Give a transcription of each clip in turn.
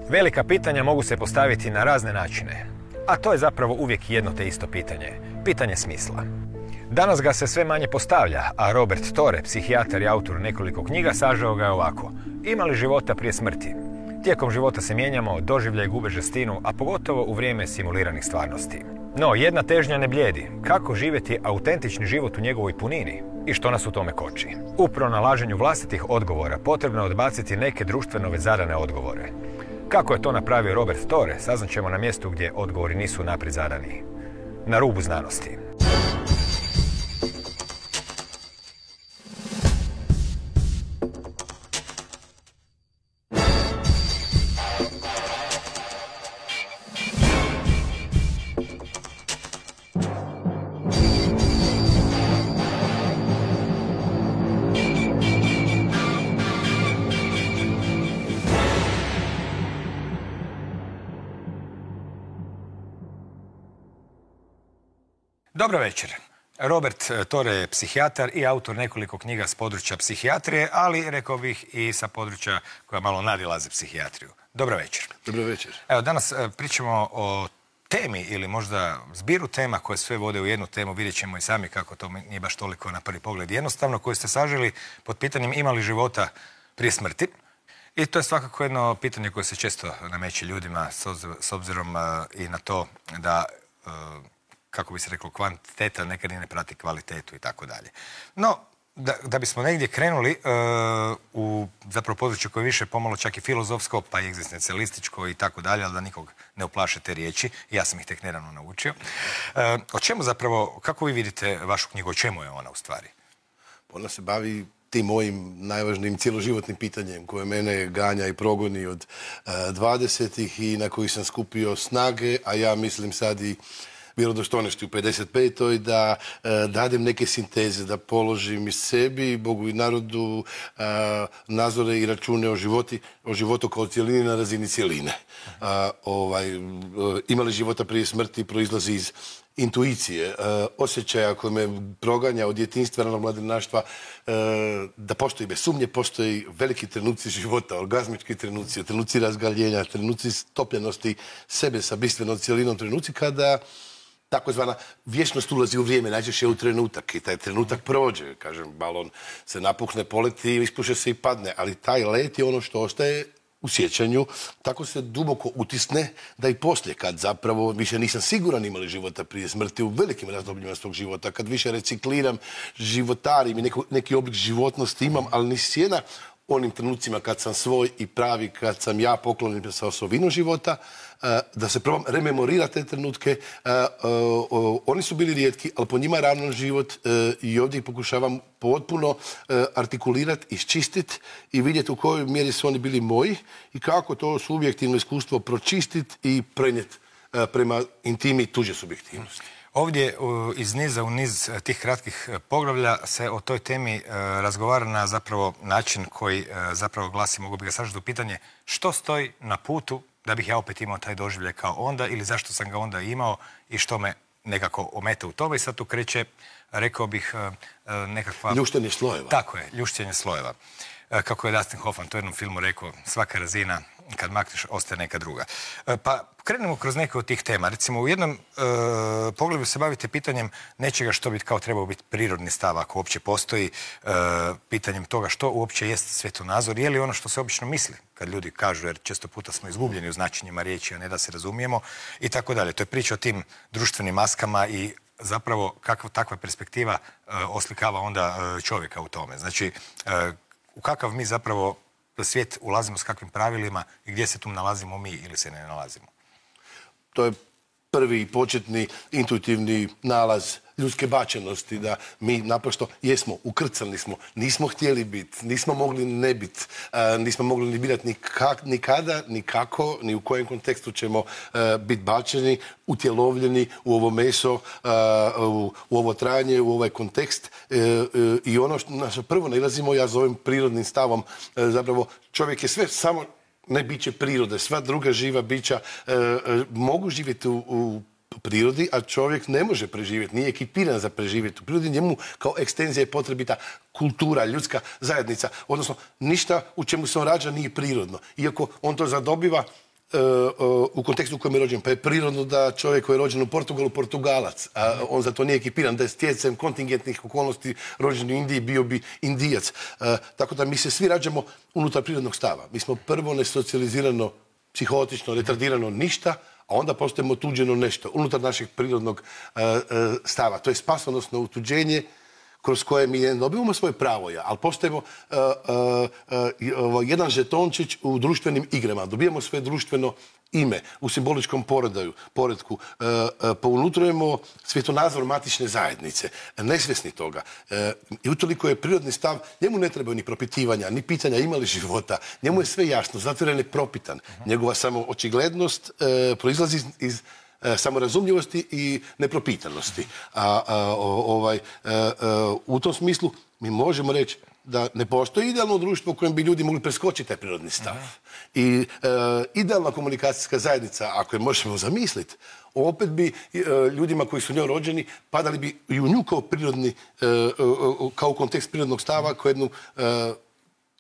Velika pitanja mogu se postaviti na razne načine, a to je zapravo uvijek jedno te isto pitanje, pitanje smisla. Danas ga se sve manje postavlja, a Robert Torre, psihijatar i autor nekoliko knjiga, sažeo ga je ovako. Ima li života prije smrti? Tijekom života se mijenjamo, doživljaj gube žestinu, a pogotovo u vrijeme simuliranih stvarnosti. No, jedna težnja ne blijedi. Kako živjeti autentični život u njegovoj punini? I što nas u tome koči? U pronalaženju vlastitih odgovora potrebno je odbaciti neke društveno već zadane odgovore. Kako je to napravio Robert Torre, saznaćemo na mjestu gdje odgovori nisu naprijed zadani. Na rubu znanosti. Dobro večer. Robert Torre je psihijatar i autor nekoliko knjiga s područja psihijatrije, ali rekao bih i sa područja koja malo nadilaze psihijatriju. Dobro večer. Dobro večer. Evo, danas pričamo o temi ili možda zbiru tema koje sve vode u jednu temu. Vidjet ćemo i sami kako to nije baš toliko na prvi pogled jednostavno, koju ste saželi pod pitanjem ima li života prije smrti. I to je svakako jedno pitanje koje se često nameće ljudima s obzirom i na to da kako bi se reklo, kvantiteta nekad i ne prati kvalitetu i tako dalje. No, da bismo negdje krenuli u zapravo području koje je više pomalo čak i filozofsko, pa i egzistencijalističko i tako dalje, ali da nikog ne uplaše te riječi, ja sam ih tek nedavno naučio. O čemu zapravo, kako vi vidite vašu knjigu, o čemu je ona u stvari? Ona se bavi tim mojim najvažnijim cjeloživotnim pitanjem koje mene ganja i progoni od 20-ih i na koji sam skupio snage, a ja mislim sad i vjerodostojnosti u 55. da dadem neke sinteze, da položim i sebi, Bogu i narodu nazore i račune o životu kao cijelini na razini cijeline. Ima li života prije smrti proizlazi iz intuicije, osjećaja koji me proganja od djetinjstva, ranog mladenaštva, da postoji bez sumnje, postoji veliki trenuci života, orgazmički trenuci razgaljenja, trenuci stopljenosti sebe sa bistvenom cijelinom, trenuci kada takozvana vječnost ulazi u vrijeme, najčešće u trenutak i taj trenutak prođe, kažem, balon se napuhne, poleti, ispuše se i padne, ali taj let je ono što ostaje u sjećanju, tako se duboko utisne da i poslije, kad zapravo više nisam siguran ima li života prije smrti u velikim razdobljima svog života, kad više recikliram, životarim i neki oblik životnosti imam, ali ni sjena onim trenucima kad sam svoj i pravi, kad sam ja poklonim sa osobinom života, da se probam rememorirati te trenutke. Oni su bili rijetki, ali po njima je ravnan život i ovdje ih pokušavam potpuno artikulirati, iščistiti i vidjeti u kojoj mjeri su oni bili moji i kako to subjektivno iskustvo pročistiti i prenijeti prema intimi tuđe subjektivnosti. Ovdje iz niza u niz tih kratkih poglavlja se o toj temi razgovara na zapravo način koji zapravo glasi, mogu bi ga sažeti u pitanje, što stoji na putu da bih ja opet imao taj doživljaj kao onda ili zašto sam ga onda imao i što me nekako ometa u tome. I sad tu kreće, rekao bih, nekakva... Ljuštenje slojeva. Tako je, ljuštenje slojeva. Kako je Dustin Hoffman to u jednom filmu rekao, svaka razina kad makneš ostaje neka druga. Pa krenemo kroz neke od tih tema. Recimo u jednom pogledu se bavite pitanjem nečega što bi kao trebao biti prirodni stav ako uopće postoji, pitanjem toga što uopće jest svjetonazor, je li ono što se obično misli kad ljudi kažu, jer često puta smo izgubljeni u značenjima riječi, a ne da se razumijemo i tako dalje. To je priča o tim društvenim maskama i zapravo kakva takva perspektiva oslikava onda čovjeka u tome. Znači, u kakav mi zapravo svijet ulazimo s kakvim pravilima i gdje se tu nalazimo mi ili se ne nalazimo? To je prvi početni intuitivni nalaz ljudske bačenosti, da mi naprosto jesmo, ukrcani smo, nismo htjeli biti, nismo mogli ne biti, nismo mogli ni birati ni kada, ni kako, ni u kojem kontekstu ćemo biti bačeni, utjelovljeni u ovo meso, u ovo trajanje, u ovaj kontekst. I ono na što prvo nailazimo, ja zovem prirodnim stavom, zapravo čovjek je sve samo ne biće prirode, sva druga živa bića mogu živjeti u prirodi, a čovjek ne može preživjeti, nije ekipiran za preživjeti u prirodi, njemu kao ekstenzija je potrebita kultura, ljudska zajednica, odnosno ništa u čemu se on rađa nije prirodno. Iako on to zadobiva u kontekstu u kojem je rođen, pa je prirodno da čovjek koji je rođen u Portugalu Portugalac, a on za to nije ekipiran, da je stjecajem kontingentnih okolnosti rođen u Indiji, bio bi Indijac. Tako da mi se svi rađamo unutar prirodnog stava. Mi smo prvo nesocijalizirano, psihotično, retardirano ništa, a onda postajemo otuđeno nešto unutar našeg prirodnog stava. To je spasonosno otuđenje kroz koje mi ne dobivamo svoje pravoja, ali postajemo jedan žetončić u društvenim igrama. Dobijamo svoje društveno ime u simboličkom poredku. Pounutrujemo svjetonazor matične zajednice, nesvjesni toga. I utoliko je prirodni stav, njemu ne trebaju ni propitivanja, ni pitanja ima li života. Njemu je sve jasno, zato je nepropitan. Njegova samo očiglednost proizlazi iz samorazumljivosti i nepropitanosti. U tom smislu mi možemo reći da ne postoji idealno društvo u kojem bi ljudi mogli preskočiti taj prirodni stav. I idealna komunikacijska zajednica, ako je možemo zamisliti, opet bi ljudima koji su njoj rođeni padali bi i u nju kao prirodni, kao u kontekst prirodnog stava, kao jednu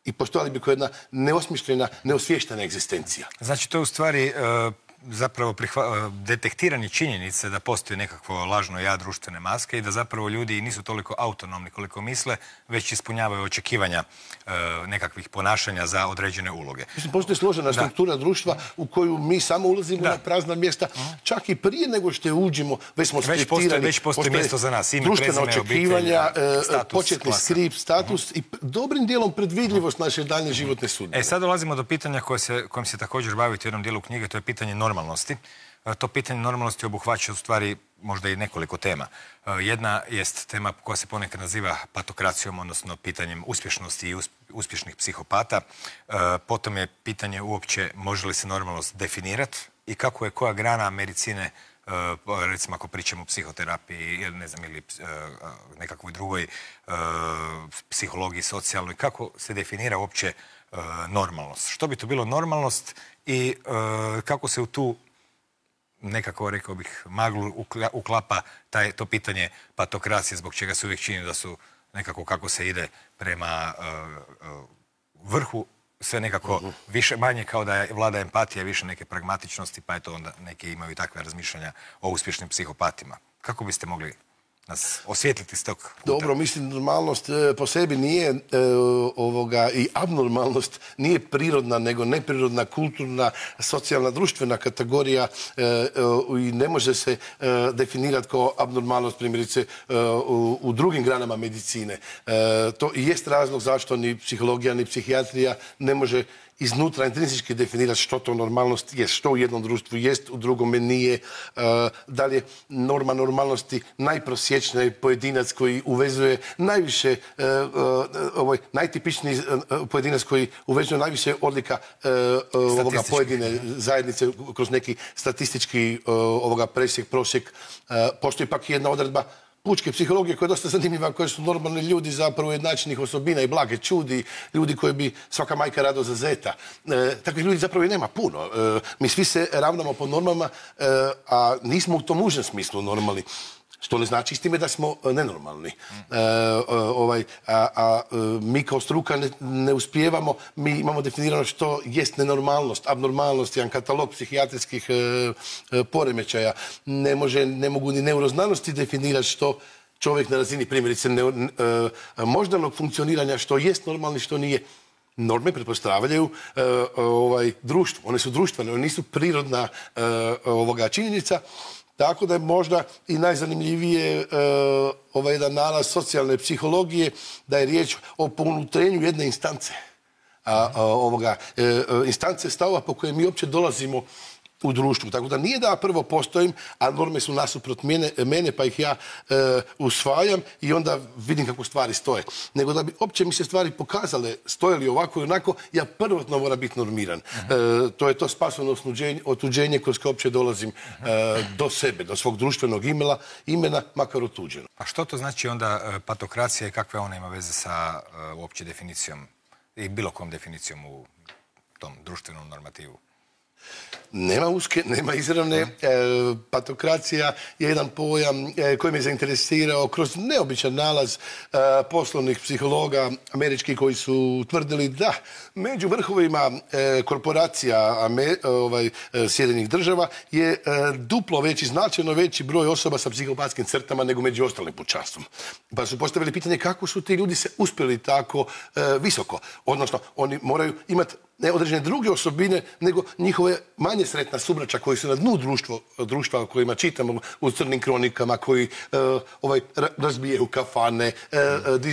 i postojali bi kao jedna neosmišljena, neosvještena egzistencija. Znači, to je u stvari zapravo detektiranje činjenice da postoji nekakvo lažno ja društvene maske i da zapravo ljudi nisu toliko autonomni koliko misle, već ispunjavaju očekivanja nekakvih ponašanja za određene uloge. Mislim, postoji složena struktura društva u koju mi samo ulazimo na prazna mjesta, čak i prije nego što uđemo, već smo skriptirani. Već postoji mjesto za nas, ime, društvena prezime, očekivanja, status, početni skript, status i dobrim dijelom predvidljivost naše daljnje životne sudbine. Sad dolazimo do pitanja kojim se također bavite u jednom dijelu knjige, to je pitanje normalnosti. To pitanje normalnosti obuhvaća u stvari možda i nekoliko tema. Jedna jest tema koja se ponekad naziva patokracijom, odnosno pitanjem uspješnosti i uspješnih psihopata. Potom je pitanje uopće može li se normalnost definirati i kako je koja grana medicine, recimo ako pričamo o psihoterapiji ili ne znam, ili nekakvoj drugoj psihologiji, socijalnoj, kako se definira uopće normalnost. Što bi to bilo normalnost i kako se u tu nekako, rekao bih, maglu uklapa to pitanje patokracije, zbog čega se uvijek čini da su nekako kako se ide prema vrhu, sve nekako više, manje kao da je vlada empatija, više neke pragmatičnosti, pa eto onda neki imaju takve razmišljanja o uspješnim psihopatima. Kako biste mogli nas osvijetliti s tog kuta? Dobro, mislim, normalnost po sebi nije i abnormalnost nije prirodna, nego neprirodna, kulturna, socijalna, društvena kategorija i ne može se definirati kao abnormalnost, primjerice, u drugim granama medicine. To i jest razlog zašto ni psihologija, ni psihijatrija ne može iznutra intrinzički definirati što to normalnost je, što u jednom društvu jest, u drugome nije. Da li je norma normalnosti najprosječniji pojedinac koji uvezuje najviše, najtipičniji pojedinac koji uvezuje najviše odlika pojedine zajednice kroz neki statistički presjek, prosjek. Postoji pak jedna odredba pučke psihologije koja je dosta zanimljiva, koje su normalni ljudi zapravo jednačenih osobina i blage čudi, ljudi koji bi svaka majka rado za zeta. Takvih ljudi zapravo i nema puno. Mi svi se ravnamo po normama, a nismo u tom užem smislu normalni. Što ne znači s time da smo nenormalni. Mi kao struka ne uspijevamo, mi imamo definirano što jest nenormalnost, abnormalnost, jedan katalog psihijatrijskih poremećaja. Ne mogu ni neuroznanosti definirati što čovjek na razini, primjerice, moždanog funkcioniranja, što jest normalni, što nije. Norme pretpostavljaju društvo. One su društvene, one nisu prirodna činjenica. Tako da je možda i najzanimljivije jedan nalaz socijalne psihologije da je riječ o pounutrenju jedne instance. Instance stavova po koje mi uopće dolazimo u društvu. Tako da nije da ja prvo postojim, a norme su nasuprot mene, pa ih ja usvajam i onda vidim kako stvari stoje. Nego da bi opće mi se stvari pokazale, stoje li ovako i onako, ja prvotno moram biti normiran. To je to spasovno otuđenje kroz koje opće dolazim do sebe, do svog društvenog imena, makar otuđeno. A što to znači onda patokracija i kakve ona ima veze sa uopće definicijom i bilo kom definicijom u tom društvenom normativu? Nema uske, nema izravne. Patokracija je jedan pojam koji me zainteresirao kroz neobičan nalaz poslovnih psihologa američkih koji su tvrdili da među vrhovima korporacija Sjedinjenih država je duplo veći, značajno veći broj osoba sa psihopatskim crtama nego među ostalim pučanstvom. Pa su postavili pitanje kako su ti ljudi se uspjeli tako visoko. Odnosno, oni moraju imati ne određene druge osobine, nego njihove manje sretna subraća koji su na dnu društva o kojima čitamo u crnim kronikama, koji razbijaju kafane,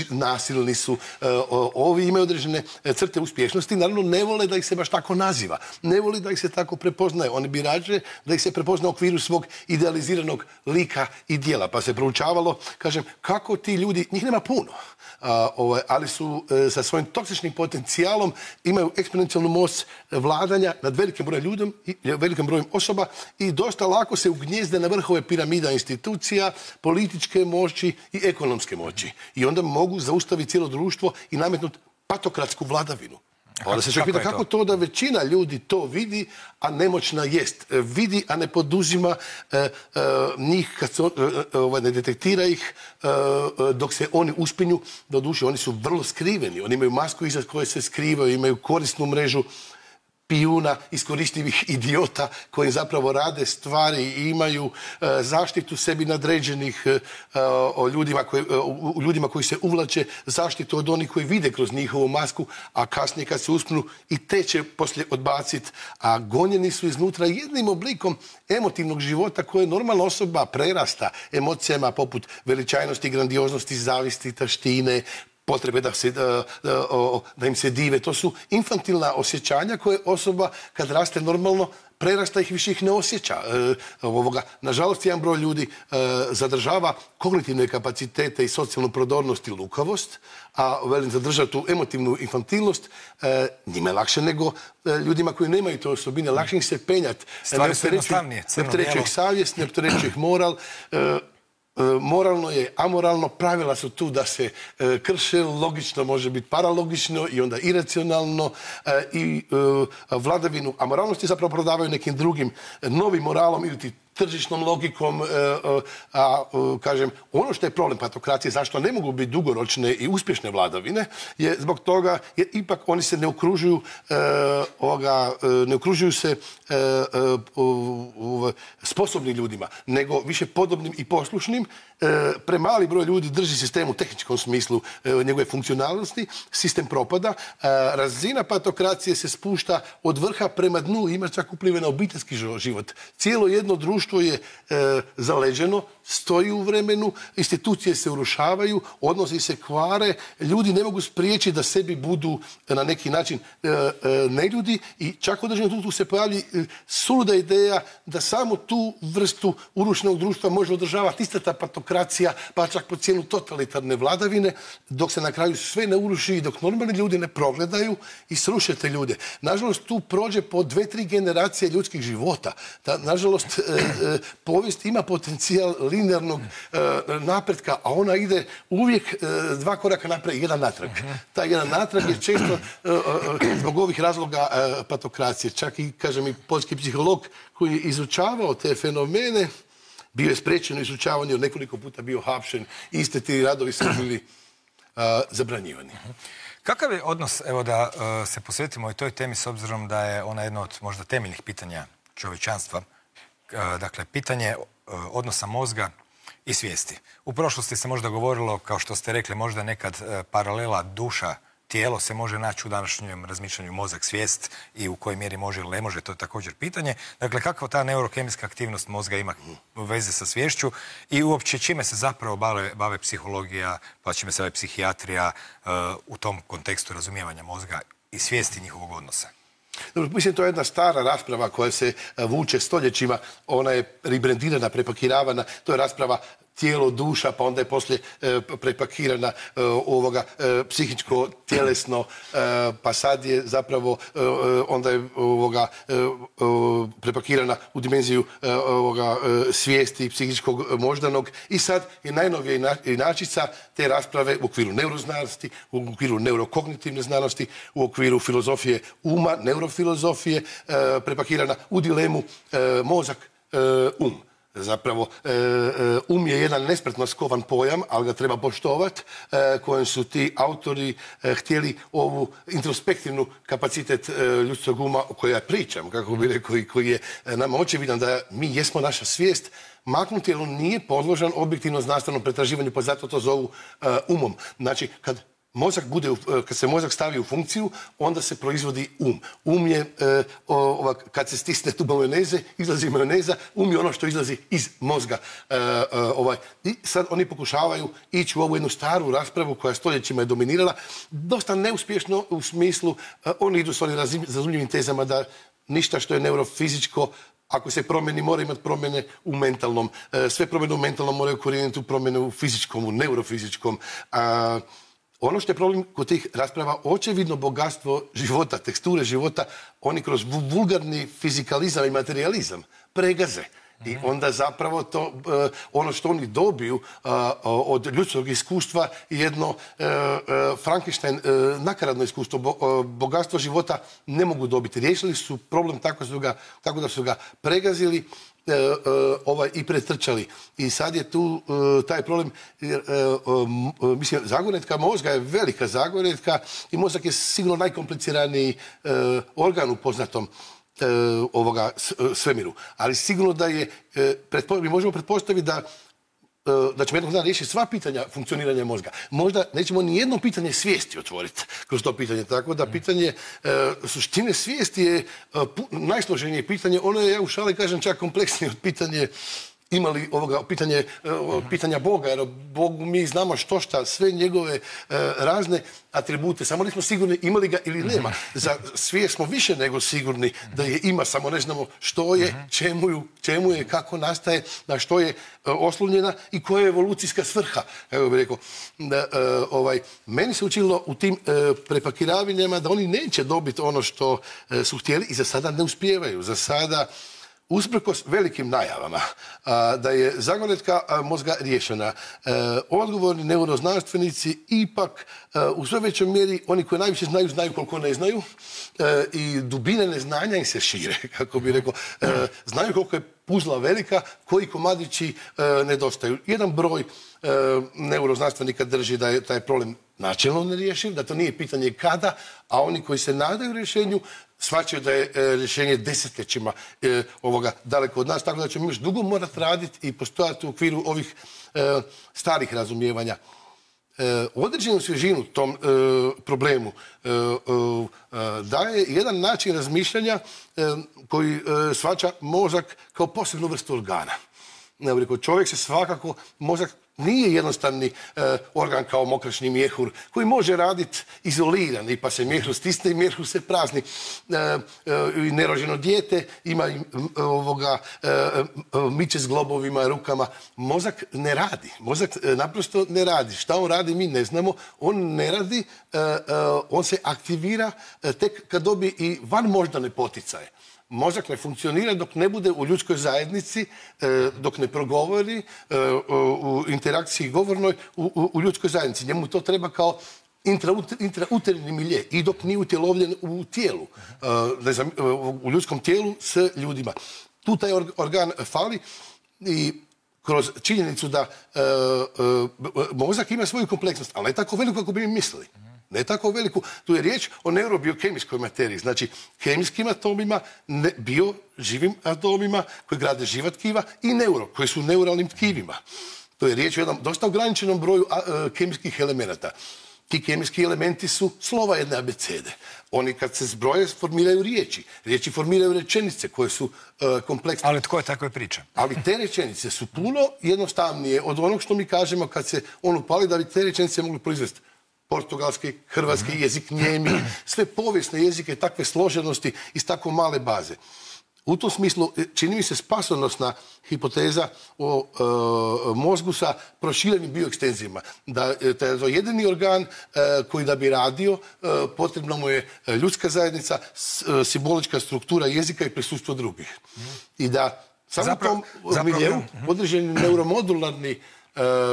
nasilni su. Ovi imaju određene crte uspješnosti. Naravno, ne vole da ih se baš tako naziva. Ne vole da ih se tako prepoznaje. Oni bi rađe da ih se prepozna u okviru svog idealiziranog lika i dijela. Pa se proučavalo, kažem, kako ti ljudi, njih nema puno, ali su sa svojim toksičnim potencijalom imaju eksponencijalnu moć vladanja nad velikim brojem osoba i dosta lako se ugnjezde na vrhove piramida institucija, političke moći i ekonomske moći. I onda mogu zaustaviti cijelo društvo i nametnuti patokratsku vladavinu. Onda se čovjek pita kako to da većina ljudi to vidi, a nemoćna jest. Vidi, a ne poduzima njih, kad se ne detektira ih, dok se oni uspinju. Doduše, oni su vrlo skriveni. Oni imaju masku iza koje se skrivaju, imaju korisnu mrežu pijuna, iskoristivih idiota koji zapravo rade stvari i imaju zaštitu sebi nadređenih ljudima koji se uvlače, zaštitu od onih koji vide kroz njihovu masku, a kasnije kad se uspnu i te će poslije odbaciti. A gonjeni su iznutra jednim oblikom emotivnog života koje normalna osoba prerasta emocijama poput veličajnosti, grandioznosti, zavisti, taštine, potrebe da im se dive. To su infantilna osjećanja koje osoba kad raste normalno prerasta ih, više ih ne osjeća. Nažalost, jedan broj ljudi zadržava kognitivne kapacitete i socijalnu prodornost i lukavost, a zadržati tu emotivnu infantilnost njima je lakše nego ljudima koji nemaju te osobine. Lakše ih se penjati. Stvari su jednostavnije. Ne opterećuje ih savjest, ne opterećuje ih moral. Moralno je amoralno, pravila su tu da se krše, logično može biti paralogično i onda iracionalno i vladavinu amoralnosti zapravo prodavaju nekim drugim novim moralom ili tržišnom logikom, kažem, ono što je problem patokracije, zašto ne mogu biti dugoročne i uspješne vladavine, je zbog toga jer ipak oni se ne okružuju se sposobnim ljudima, nego više podobnim i poslušnim. Premali broj ljudi drži sistem u tehničkom smislu njegove funkcionalnosti, sistem propada, razina patokracije se spušta od vrha prema dnu, ima čak uplive na obiteljski život. Cijelo jedno društvo je zaleđeno, stoji u vremenu, institucije se urušavaju, odnosi se kvare, ljudi ne mogu spriječiti da sebi budu na neki način neljudi i čak u određenom tu se pojavi suluda ideja da samo tu vrstu urušenog društva može održavati ista ta patokracija, pa čak po cijenu totalitarne vladavine, dok se na kraju sve ne uruši i dok normalni ljudi ne progledaju i sruše te ljude. Nažalost, tu prođe po 2-3 generacije ljudskih života. Nažalost, povijest ima potencijal linearnog napretka, a ona ide uvijek 2 koraka naprijed i 1 natrag. Taj 1 natrag je često zbog ovih razloga patokracije. Čak i, kažem, i poljski psiholog koji je izučavao te fenomene, bio je spriječen u izučavanju, nekoliko puta bio hapšen, iste ti radovi su bili zabranjivani. Kakav je odnos, evo da se posvetimo i toj temi s obzirom da je ona jedna od možda temeljnih pitanja čovječanstva, dakle, pitanje odnosa mozga i svijesti. U prošlosti se možda govorilo, kao što ste rekli, možda nekad paralela duša, tijelo se može naći u današnjem razmišljanju mozak, svijest i u kojoj mjeri može ili ne može, to je također pitanje. Dakle, kakva ta neurokemijska aktivnost mozga ima veze sa sviješću i uopće čime se zapravo bave psihologija, pa čime se bave psihijatrija u tom kontekstu razumijevanja mozga i svijesti njihovog odnosa? Mislim, to je jedna stara rasprava koja se vuče stoljećima. Ona je ribrendirana, prepakiravana. To je rasprava tijelo, duša, pa onda je poslije prepakirana psihičko, tjelesno, pa sad je zapravo onda je prepakirana u dimenziju svijesti psihičkog moždanog i sad je najnovija inačica te rasprave u okviru neuroznanosti, u okviru neurokognitivne znanosti, u okviru filozofije uma, neurofilozofije, prepakirana u dilemu mozak, Zapravo, je jedan nespretno skovan pojam, ali ga treba poštovati, kojem su ti autori htjeli ovu introspektivnu kapacitet ljudskog uma o kojoj ja pričam, kako bi rekao, i koji je nama očevidan da mi jesmo naša svijest, maknuti, jer on nije podložan objektivno znanstvenom pretraživanju, pa zato to zovu umom. Znači, kad se mozak stavi u funkciju, onda se proizvodi um. Um je, kad se stisne tuba majoneze, izlazi majoneza, um je ono što izlazi iz mozga. I sad oni pokušavaju ići u ovu jednu staru raspravu koja stoljećima je dominirala, dosta neuspješno u smislu, oni idu s onim razumljivim tezama da ništa što je neurofizičko, ako se promijeni, mora imati promjene u mentalnom. Sve promjene u mentalnom moraju korijeniti u promjene u fizičkom, u neurofizičkom. Ono što je problem kod tih rasprava, očevidno bogatstvo života, teksture života, oni kroz vulgarni fizikalizam i materializam pregaze. I onda zapravo to, ono što oni dobiju od ljudskog iskustva je jedno Frankenstein nakaradno iskustvo. Bogatstvo života ne mogu dobiti. Riješili su problem tako da su ga pregazili i pretrčali. I sad je tu taj problem, mislim, zagonetka mozga je velika zagonetka i mozak je sigurno najkompliciraniji organ u poznatom svemiru. Ali sigurno da je, mi možemo pretpostaviti da ćemo jednog dana riješiti sva pitanja funkcioniranja mozga. Možda nećemo ni jedno pitanje svijesti otvoriti kroz to pitanje. Tako da pitanje suštine svijesti je najsloženije pitanje. Ono je, ja u šali kažem, čak kompleksnije od pitanja Boga, jer o Bogu mi znamo šta, sve njegove razne atribute, samo nismo sigurni imali ga ili nema. Za svijest smo više nego sigurni da je ima, samo ne znamo što je, čemu je, kako nastaje, na što je oslonjena i koja je evolucijska svrha. Evo bih rekao, meni se učinilo u tim prepakiravanjima da oni neće dobiti ono što su htjeli i za sada ne uspijevaju. Za sada, usprkos velikim najavama da je zagonetka mozga riješena, odgovorni neuroznanstvenici ipak u sve većoj mjeri, oni koji najviše znaju koliko ne znaju, i dubine neznanja im se šire, kako bi rekao. Znaju koliko je puzla velika, koji komadići nedostaju. Jedan broj neuroznanstvenika drži da je taj problem načelno nerješiv, da to nije pitanje kada, a oni koji se nadaju rješenju shvaćaju da je rješenje desetljećima daleko od nas, tako da ćemo još dugo morati raditi i postojati u okviru ovih starih razumijevanja. Određenu svježinu tom problemu daje jedan način razmišljanja koji shvaća mozak kao posebnu vrstu organa. Čovjek se svakako, mozak nije jednostavni organ kao mokraćni mjehur koji može raditi izoliran, i pa se mjehur stisne i mjehur se prazni. Nerođeno dijete ima miče s globovima, rukama. Mozak ne radi. Mozak naprosto ne radi. Šta on radi mi ne znamo. On ne radi, on se aktivira tek kad dobi i van moždane poticaje. Mozak ne funkcionira dok ne bude u ljudskoj zajednici, dok ne progovori u interakciji govornoj u ljudskoj zajednici. Njemu to treba kao intrauterni milje i dok nije utjelovljen u tijelu, u ljudskom tijelu s ljudima. Tu taj organ fali i kroz činjenicu da mozak ima svoju kompleksnost, ali ne tako veliku kako bi mi mislili. Ne tako veliku. Tu je riječ o neurobiokemijskoj materiji, znači kemijskim atomima, živim atomima koji grade živa tkiva i koji su neuralnim tkivima. To je riječ o jednom dosta ograničenom broju kemijskih elemenata. Ti kemijski elementi su slova jedne abecede. Oni kad se zbroje formiraju riječi. Riječi formiraju rečenice koje su kompleksne. Ali tko je takve priče? Ali te rečenice su puno jednostavnije od onog što mi kažemo kad se on upali da bi te rečenice mogli proizvesti. Portugalski, hrvatski jezik, njemi, sve povijesne jezike takve složenosti iz tako male baze. U tom smislu čini mi se spasonosna hipoteza o mozgu sa proširenim bioekstenzijama. Da je to jedini organ koji da bi radio, potrebno mu je ljudska zajednica, simbolička struktura jezika i prisustvo drugih. I da samo u tom miljeu određeni neuromodularni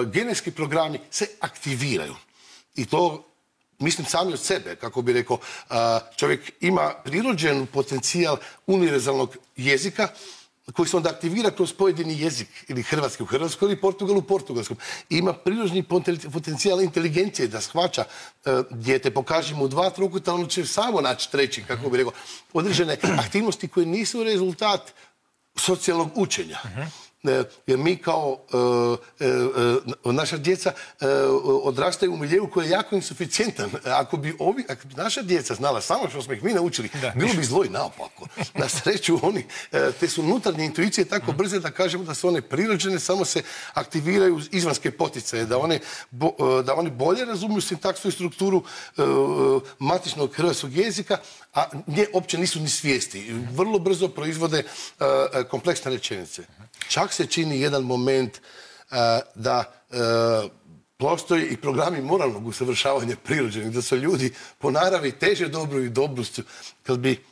genetski programi se aktiviraju. I to mislim sami od sebe, kako bi rekao, čovjek ima prirođen potencijal univerzalnog jezika koji se onda aktivira kroz pojedini jezik, ili hrvatski u hrvatskom ili Portugal u portugalskom. Ima prirođeni potencijal inteligencije da shvaća dijete, pokaže mu 2 trokuta, ono će samo naći treći, kako bi rekao, određene aktivnosti koje nisu rezultat socijalnog učenja. Jer mi kao naša djeca odrastaju u miljeu koji je jako insuficijentan. Ako bi naša djeca znala samo što smo ih mi naučili, bilo bi zlo i naopako. Na sreću te su unutarnje intuicije tako brze da kažemo da su one prirođene, samo se aktiviraju izvanske poticaje, da oni bolje razumiju sintaksu i strukturu matičnog hrvatskog jezika, a nje uopće nisu ni svijesti. Vrlo brzo proizvode kompleksne rečenice. Čak se čini jedan moment da postoji i programi moralnog usavršavanja prirođenih, da su ljudi po naravi teže dobru i dobrostu. Kad bi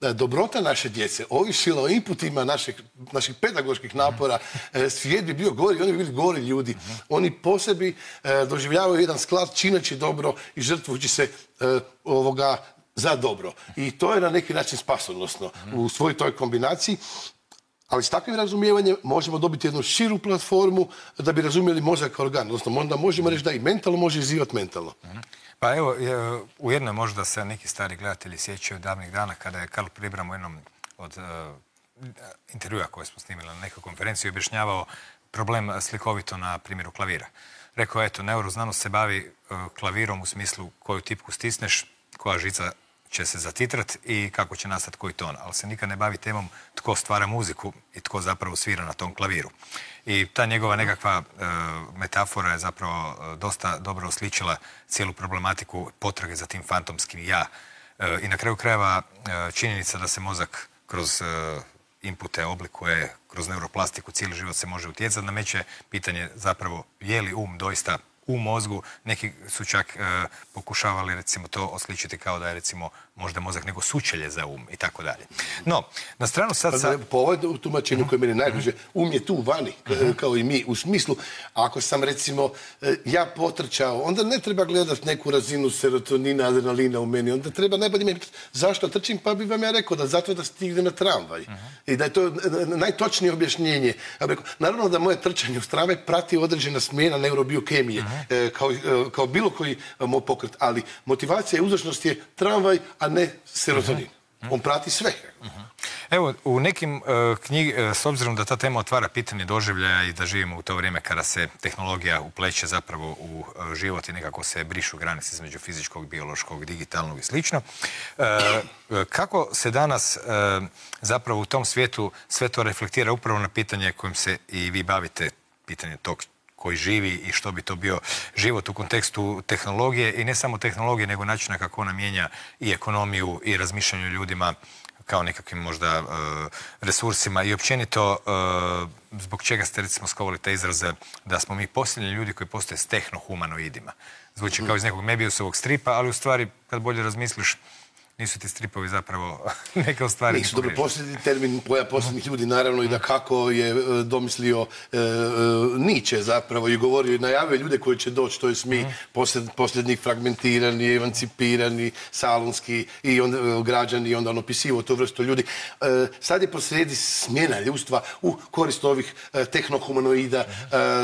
dobrota naše djece ovisila o inputima naših pedagoških napora, svijet bi bio gori, oni bi bili gori ljudi. Oni po sebi doživljavaju jedan sklad čineći dobro i žrtvujući se za dobro. I to je na neki način spasonosno u svoj toj kombinaciji. Ali s takvim razumijevanjem možemo dobiti jednu širu platformu da bi razumjeli mozak kao organ. Odnosno, onda možemo reći da i mentalno može izivati mentalno. Pa evo, ujedno možda se neki stari gledatelji sjećaju davnih dana kada je Karl Pribram u jednom od intervjua koje smo snimili na nekoj konferenciji objašnjavao problem slikovito na primjeru klavira. Rekao, eto, neuroznanost se bavi klavirom u smislu koju tipku stisneš, koja žica će se zatitrat i kako će nastati koji ton, ali se nikad ne bavi temom tko stvara muziku i tko zapravo svira na tom klaviru. I ta njegova nekakva metafora je zapravo dosta dobro osličila cijelu problematiku potrage za tim fantomskim ja. I na kraju krajeva činjenica da se mozak kroz inpute oblikuje, kroz neuroplastiku, cijeli život se može utjecati, nameće pitanje zapravo je li doista u mozgu. Neki su čak pokušavali recimo to osličiti kao da je recimo možda mozak nego sučelje za i tako dalje. No, na stranu sad... Po ovoj tumačenju koje meni najbliže, je tu vani, kao i mi, u smislu, ako sam recimo ja potrčao, onda ne treba gledati neku razinu serotonina, adrenalina u meni, onda treba najbolje mi zašto trčim, pa bi vam ja rekao da zato da stignem na tramvaj. I da je to najtočnije objašnjenje. Naravno da moje trčanje uz tramvaj prati određena smjena neurobiokemije, kao bilo koji moj pokret, ali motivacija i uzročnost je tramvaj, a ne serotonin. On prati sve. Evo, u nekim knjigama, s obzirom da ta tema otvara pitanje doživljaja i da živimo u to vrijeme kada se tehnologija upleće zapravo u život i nekako se brišu granice između fizičkog, biološkog, digitalnog i slično, kako se danas zapravo u tom svijetu sve to reflektira upravo na pitanje kojim se i vi bavite, pitanje tog koji živi i što bi to bio život u kontekstu tehnologije i ne samo tehnologije, nego načina kako ona mijenja i ekonomiju i razmišljanje o ljudima kao nekakvim možda resursima i općenito zbog čega ste recimo skovali te izraze da smo mi posljednji ljudi koji postoje s tehnohumanoidima. Zvuči kao iz nekog Mebiusovog stripa, ali u stvari kad bolje razmisliš nisu ti stripovi zapravo neke stvari. Nisu dobro posljednji termin pojam posljednjih ljudi, naravno, i da kako je domislio Nietzsche zapravo i govorio i najavio ljude koji će doći, to je mi posljednji fragmentirani, emancipirani, salonski i onda građani i onda on opisivao tu vrstu ljudi. Sad je posrijedi smjena ljudstva u korist ovih tehnohumanoida,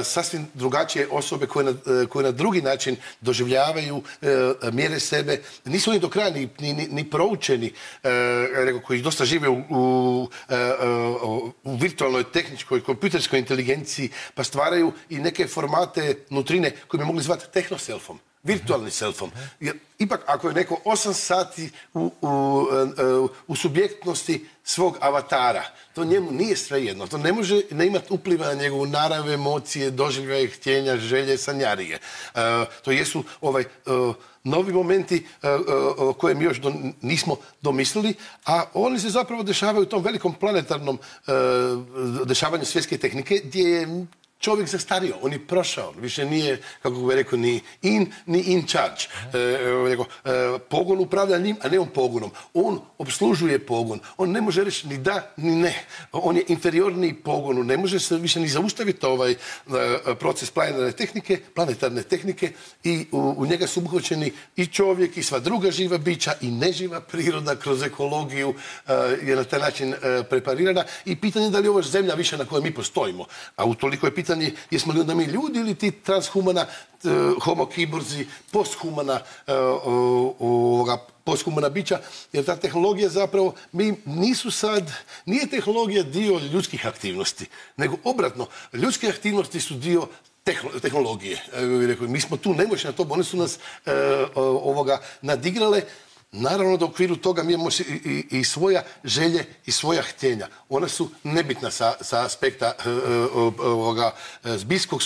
sasvim drugačije osobe koje na drugi način doživljavaju, mjere sebe. Nisu oni do kraja ni proučeni, koji dosta žive u virtualnoj, tehničkoj, kompjuterskoj inteligenciji, pa stvaraju i neke formate nutrine koje bi mogli zvati tehnoselfom. virtualnim selfom. Jer ipak ako je neko 8 sati u subjektnosti svog avatara, to njemu nije svejedno. To ne može ne imati upliva na njegovu narav, emocije, doživljaje, htjenja, želje, sanjarije. To jesu novi momenti koje mi još nismo domislili, a oni se zapravo dešavaju u tom velikom planetarnom dešavanju svjetske tehnike gdje je čovjek zastario, on je prošao, više nije, kako bih rekao, ni in charge. Pogon upravlja njim, a ne on pogonom. On obslužuje pogon. On ne može reći ni da, ni ne. On je inferiorniji pogonu. Ne može se više ni zaustaviti ovaj proces planetarne tehnike i u njega su uključeni i čovjek i sva druga živa bića i neživa priroda kroz ekologiju je na taj način preparirana. I pitanje je da li je ovo zemlja više na kojoj mi postojimo. A utoliko je pitanje jesmo li onda mi ljudi ili ti transhumana, homo kiborzi, posthumana bića, jer ta tehnologija zapravo, nije tehnologija dio ljudskih aktivnosti, nego obratno, ljudske aktivnosti su dio tehnologije. Mi smo tu nemoćni na to, one su nas nadigrale. Naravno da u okviru toga mi imamo i svoja želje i svoja htjenja. Ona su nebitna sa aspekta zbijskog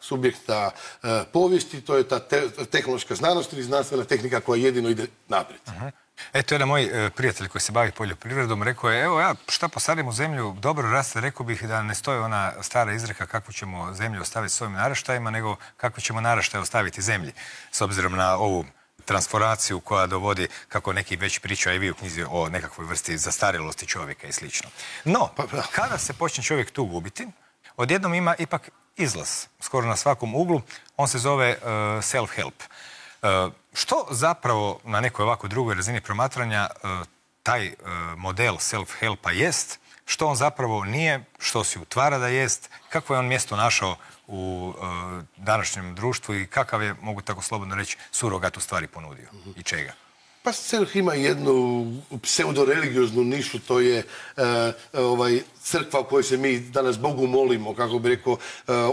subjekta povijesti, to je ta tehnološka znanost ili znanstvena tehnika koja jedino ide naprijed. Eto, jedan moj prijatelj koji se bavi poljoprivredom rekao je, evo ja šta posadim u zemlju dobro raste, rekao bih da ne stoji ona stara izreka kakvu ćemo zemlju ostaviti svojim naraštajima, nego kakvu ćemo naraštaje ostaviti zemlji, s obzirom na ovu transformaciju koja dovodi, kako neki već pričaju i vi u knjizi, o nekakvoj vrsti zastarjelosti čovjeka i slično. No, kada se počne čovjek tu gubiti, odjednom ima ipak izlaz, skoro na svakom uglu, on se zove self-help. Što zapravo na nekoj ovako drugoj razini promatranja taj model self-helpa jest, što on zapravo nije, što si utvara da jest, kako je on mjesto našao u današnjem društvu i kakav je, mogu tako slobodno reći, surogat u stvari ponudio i čega? Pa self ima jednu pseudo-religioznu nišu, to je crkva u kojoj se mi danas Bogu molimo, kako bi rekao,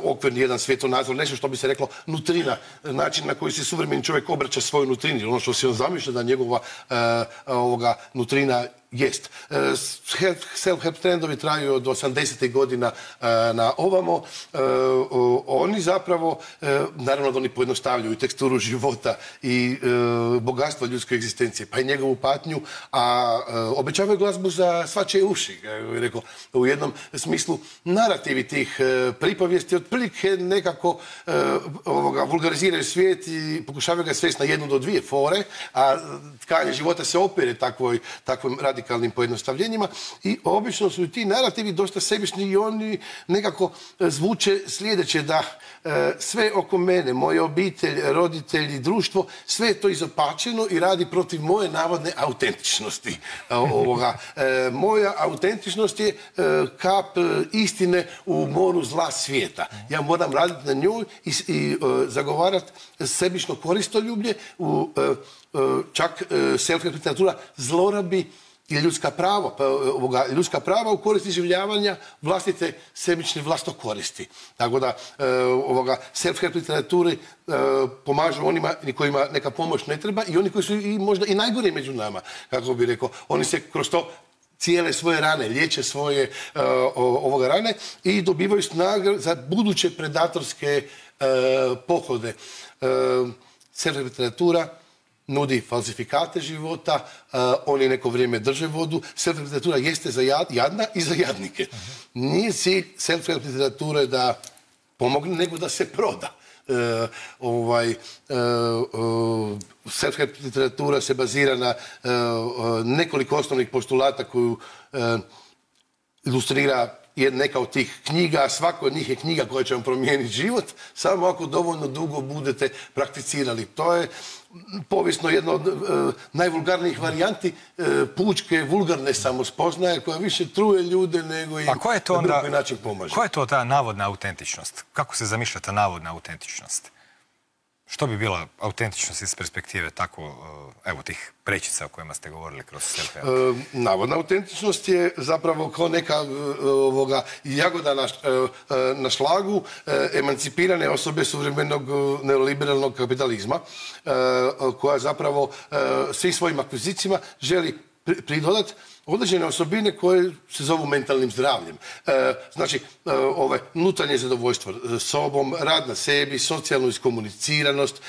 okvirni jedan svjetonazor, nešto što bi se reklo nutrina, način na koji se suvremeni čovjek obraća svojoj nutrini, ono što se on zamišlja da njegova nutrina jest. Self-help trendovi traju od 80. godina na ovamo. Oni zapravo, naravno da oni pojednostavljuju teksturu života i bogatstvo ljudske egzistencije, pa i njegovu patnju, a obećavaju glazbu za svačije uši. Rekao, u jednom smislu narativi tih pripovijesti otprilike nekako vulgariziraju svijet i pokušavaju ga svesti na 1 do 2 fore, a tkanje života se opire takvim radikalnim pojednostavljenjima i obično su i ti narativi dosta sebični i oni nekako zvuče sljedeće, da sve oko mene, moja obitelj, roditelji, društvo, sve je to izopačeno i radi protiv moje navodne autentičnosti. Moja autentičnost je kap istine u moru zla svijeta. Ja moram raditi na njoj i zagovarati sebično koristoljublje, čak self-help literatura zlorabi i ljudska prava u korist iživljavanja vlastite sebične vlastokoristi. Tako da self-help literaturi pomažu onima kojima neka pomoć ne treba i oni koji su možda i najgori među nama, kako bi rekao. Oni se kroz to cijele svoje rane, liječe svoje rane i dobivaju snagu za buduće predatorske pohode. Self-help literatura nudi falsifikate života, oni neko vrijeme drže vodu. Self-help literatura jeste za jadna i za jadnike. Nije cilj self-help literature da pomogne, nego da se proda. Self-help literatura se bazira na nekoliko osnovnih postulata koju ilustrira neka od tih knjiga, svako od njih je knjiga koja će vam promijeniti život, samo ako dovoljno dugo budete prakticirali. To je povijesno jedna od najvulgarnijih varijanti pučke, vulgarne samospoznaje koja više truje ljude nego im na drugi način pomaže. Koja je to ta navodna autentičnost? Kako se zamišlja ta navodna autentičnost? Što bi bila autentičnost iz perspektive tako, evo, tih prečica o kojima ste govorili kroz self-help? Navodna autentičnost je zapravo kao neka jagoda na šlagu emancipirane osobe suvremenog neoliberalnog kapitalizma, koja zapravo svim svojim akvizicijama želi pridodati određene osobine koje se zovu mentalnim zdravljem. Znači, unutarnje zadovoljstvo sobom, rad na sebi, socijalnu iskomuniciranost,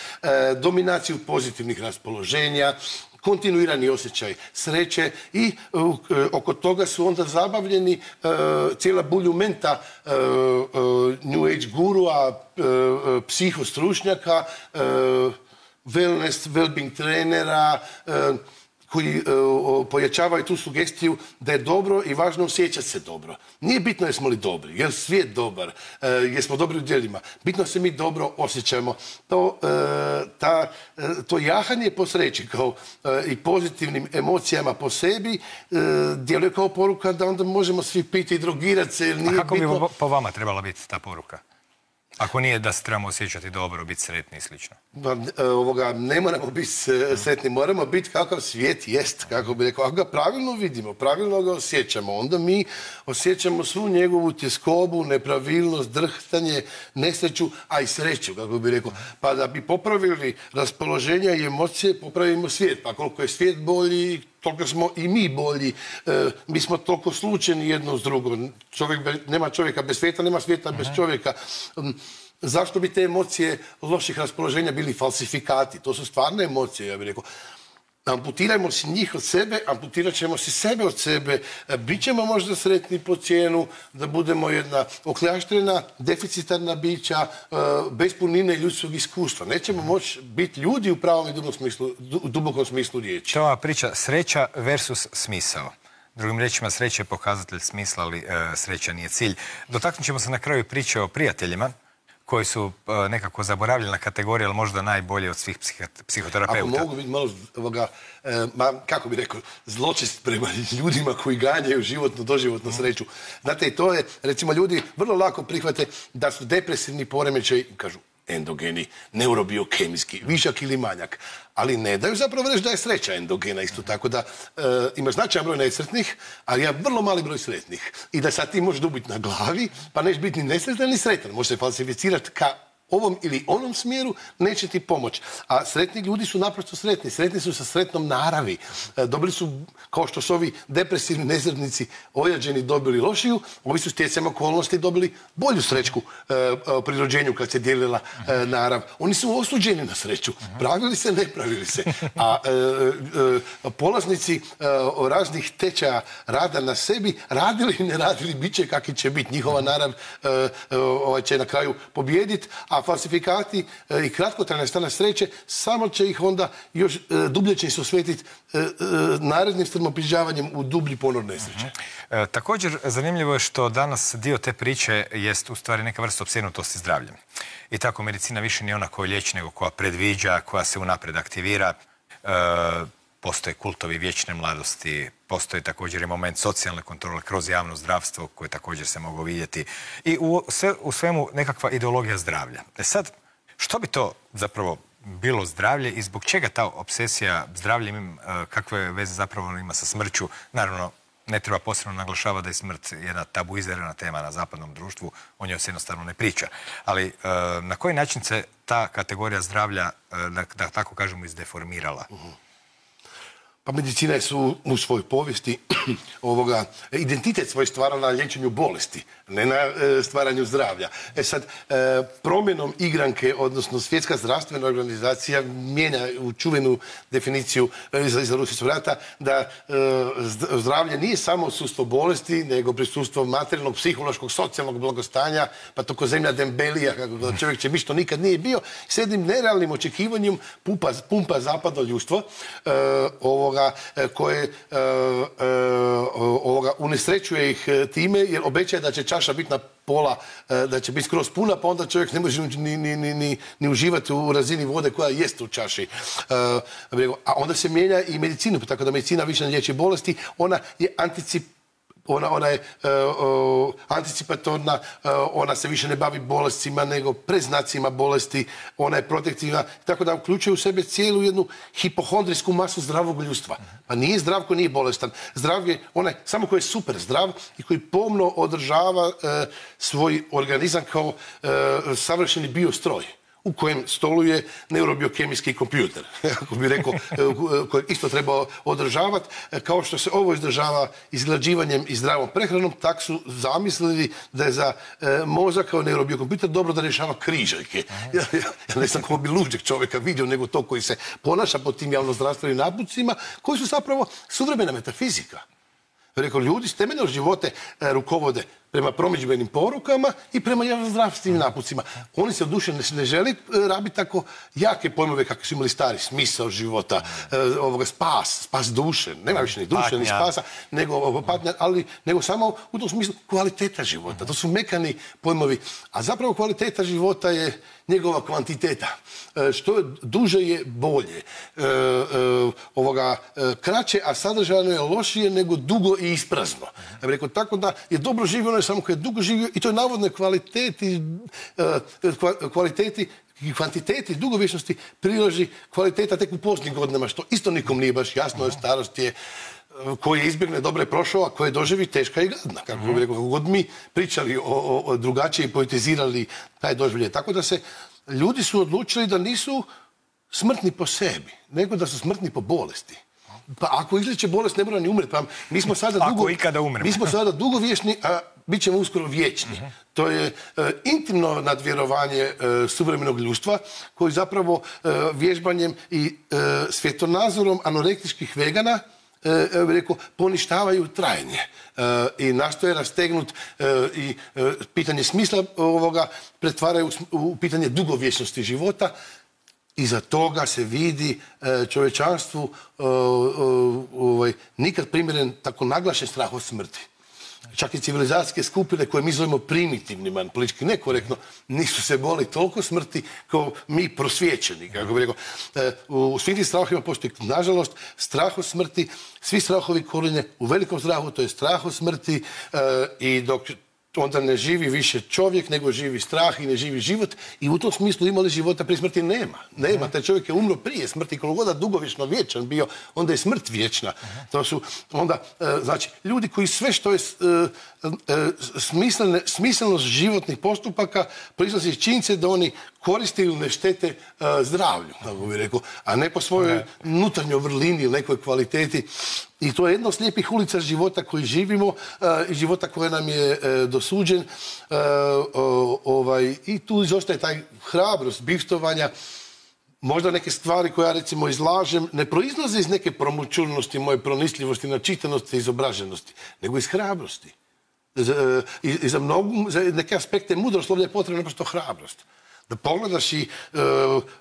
dominaciju pozitivnih raspoloženja, kontinuirani osjećaj sreće i oko toga su onda zabavljeni cijela buljumenta New Age gurua, psihostručnjaka, wellness, wellbeing trenera, koji pojačavaju tu sugestiju da je dobro i važno osjećati se dobro. Nije bitno jesmo li dobri, je li svijet dobar, jesmo dobri u djelima. Bitno se mi dobro osjećamo. To jahanje po sreći kao i pozitivnim emocijama po sebi djeluje kao poruka da onda možemo svi piti i drogirati se. A kako bi po vama trebala biti ta poruka? Ako nije da se trebamo osjećati dobro, biti sretni i slično. Ne moramo biti sretni, moramo biti kakav svijet jest, kako bi rekao. Ako ga pravilno vidimo, pravilno ga osjećamo, onda mi osjećamo svu njegovu tjeskobu, nepravilnost, drhtanje, nesreću, a i sreću, kako bi rekao. Pa da bi popravili raspoloženja i emocije, popravimo svijet. Pa koliko je svijet bolji, toliko smo i mi bolji. Mi smo toliko slučajni jedno s drugom. Nema čovjeka bez svijeta, nema svijeta bez čovjeka. Zašto bi te emocije loših raspoloženja bili falsifikati? To su stvarne emocije, ja bih rekao. Amputirajmo si njih od sebe, amputirat ćemo si sebe od sebe, bit ćemo možda sretni po cijenu da budemo jedna okljaštrena, deficitarna bića, bez punine ljudskog iskustva. Nećemo moći biti ljudi u pravom i dubokom smislu riječi. To je ova priča sreća versus smisao. Drugim riječima, sreća je pokazatelj smisla, ali sreća nije cilj. Dotaknut ćemo se na kraju priče o prijateljima, koji su nekako zaboravljena kategorija, ali možda najbolje od svih psihoterapeuta. Ako mogu biti malo, kako bi rekao, zločest prema ljudima koji ganjaju životnu, doživotnu sreću. Znate, i to je, recimo, ljudi vrlo lako prihvate da su depresivni poremećaj, kažu, endogeni, neurobiokemijski, višak ili manjak. Ali ne daju zapravo reći da je sreća endogena isto tako da ima značajan broj nesretnih, ali ja vrlo mali broj sretnih. I da sad ti možeš dubiti na glavi, pa nećeš biti ni nesretan ni sretan. Može se falsificirati ka ovom ili onom smjeru, neće ti pomoći. A sretni ljudi su naprosto sretni. Sretni su sa sretnom naravi. Dobili su, kao što su ovi depresivni nesretnici ojađeni dobili lošiju, ovi su stjecajem okolnosti dobili bolju srećku pri rođenju kad se dijelila narav. Oni su osuđeni na sreću. Pravili se, ne pravili se. A polaznici raznih tečaja rada na sebi, radili i ne radili, bit će kakvi će biti. Njihova narav će na kraju pobijediti, a falsifikati i kratkotrajna strana sreće samo će ih onda još dublje će se osvetiti narednim strmoprižavanjem u dublji ponor nesreće. Također, zanimljivo je što danas dio te priče jest u stvari neka vrsta opsjednutosti zdravljem. I tako medicina više nije ona koja liječi, nego koja predviđa, koja se unaprijed aktivira. Postoje kultovi vječne mladosti, postoji također i moment socijalne kontrole kroz javno zdravstvo koje također se mogu vidjeti i u svemu nekakva ideologija zdravlja. Sad, što bi to zapravo bilo zdravlje i zbog čega ta obsesija zdravljem, kakve veze zapravo ima sa smrću? Naravno, ne treba posebno naglašavati da je smrt jedna tabuizirana tema na zapadnom društvu, o njoj se jednostavno ne priča. Ali na koji način se ta kategorija zdravlja, da tako kažemo, izdeformirala? Pa medicina je u svojoj povijesti identitet svoj stvarala na liječenju bolesti, ne na stvaranju zdravlja. Sad, promjenom igranke, odnosno Svjetska zdravstvena organizacija mijenja u čuvenu definiciju iz Rusijskog rata da zdravlje nije samo odsustvo bolesti, nego prisustvo materijalnog, psihološkog, socijalnog blagostanja, pa toko zemlja dembelija, kako čovjek će biti što nikad nije bio, s jednim nerealnim očekivanjem pumpa zapadno ljudstvo, koje unesrećuje ih time jer obećaje da će čaša biti na pola, da će biti skroz puna, pa onda čovjek ne može ni uživati u razini vode koja jest u čaši. A onda se mijenja i medicina, tako da medicina više ne liječi bolesti, ona je ona je anticipatorna, ona se više ne bavi bolestima nego preznacima bolesti, ona je protektivna, tako da uključuje u sebe cijelu jednu hipohondrijsku masu zdravog ljudstva. Pa nije zdrav ko nije bolestan. Zdrav je onaj samo koji je super zdrav i koji pomno održava svoj organizam kao savršeni biostroj u kojem stoluje neurobiokemijski kompjuter, ako bi rekao, kojeg isto treba održavati. Kao što se ovo izdržava izglađivanjem i zdravom prehranom, tak su zamislili da je za mozak kao neurobiokompjuter dobro da rješava križaljke. Ja ne znam ko bi luđeg čovjeka vidio nego to koji se ponaša po tim javnozdravstvenim napucima, koji su zapravo suvremena metafizika. Rekao, ljudi s temeljnog živote rukovode prema promidžbenim porukama i prema javnozdravstvenim napucima. Oni se u duše ne želi rabiti tako jake pojmove kako su imali stari, smisao života, spas duše, nema više ni duše, ni spasa, nego samo u tom smislu kvaliteta života. To su mekani pojmovi, a zapravo kvaliteta života je njegova kvantiteta. Što duže je bolje. Kraće, a sadržajno je lošije nego dugo i isprazno. Ja bih rekao, tako da je dobro živio onaj samo koji je dugo živio i to je navodno kvaliteti i kvantiteti dugovječnosti priloži kvaliteta tek u posljednjim godinama, što isto nikom nije baš jasno. Starost je koji je izbjegne dobro je prošao, a koji je doživi teška i gadna. Kako bi rekao, kako god mi pričali o drugačije i poetizirali taj doživljaj. Tako da se ljudi su odlučili da nisu smrtni po sebi, nego da su smrtni po bolesti. Pa ako izliječe bolest, ne mora ni umreti. Pa mi smo sada dugovječni, a bit ćemo uskoro vječni. To je intimno nadvjerovanje suvremenog ljudstva, koji zapravo vježbanjem i svjetonazorom anorektičkih vegana poništavaju trajanje i nastoje rastegnuti i pitanje smisla ovoga pretvaraju u pitanje dugovječnosti života. Iza toga se vidi čovječanstvu nikad primjeren tako naglašen strah od smrti. Čak i civilizacijske skupine koje mi zovemo primitivnima, politički nekorektno, nisu se boli toliko smrti kao mi prosvjećeni. Kako bih rekao, u svim tim strahovima postoji, nažalost, strah od smrti. Svi strahovi korijene u velikom strahu, to je strah od smrti i dok onda ne živi više čovjek, nego živi strah i ne živi život. I u tom smislu ima li života prije smrti? Nema. Taj čovjek je umro prije smrti. Koliko god dugovječno vječan bio, onda je smrt vječna. To su onda, znači, ljudi koji sve što je smislenost životnih postupaka proizlazi iz činjenice da oni koriste ili ne štete zdravlju, kako bih rekao, a ne po svojoj unutarnjoj vrlini ili nekoj kvaliteti. I to je jedna od slijepih ulica života koji živimo i života koje nam je dosuđen. I tu izostaje taj hrabrost bivstovanja. Možda neke stvari koje ja recimo izlažem ne proizlaze iz neke promućurnosti, moje pronicljivosti, načitanosti i izobraženosti, nego iz hrabrosti. I za neke aspekte mudroslovlja je potrebna naprosto hrabrost. Da pogledaš i